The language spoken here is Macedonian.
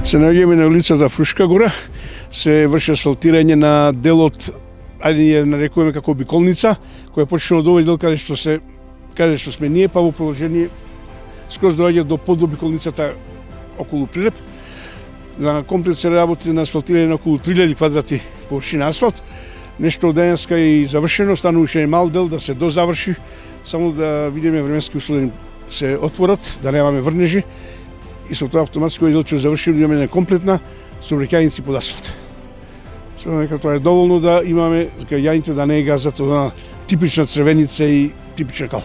Се наоѓаме на улицата Фрушка гора, се врши асфалтирање на делот, ајде ја нарекуваме како обиколница, која почнува од овој дел каде што сме ние, па во продолжение скроз доаѓа до подобиколницата околу Прилеп. На комплекс се работи на асфалтирање на околу 3000 квадрати површина асфалт. Нешто од денеска е завршено, стануваше мал дел да се дозаврши, само да видиме временски услови се отворат, да немаме врнежи и со тоа автоматски овој дел ќе заврши, да имаме комплетна сообраќајници под асфалт. Нека тоа е доволно да имаме јаните да не е газат од типична црвеница и типична кал.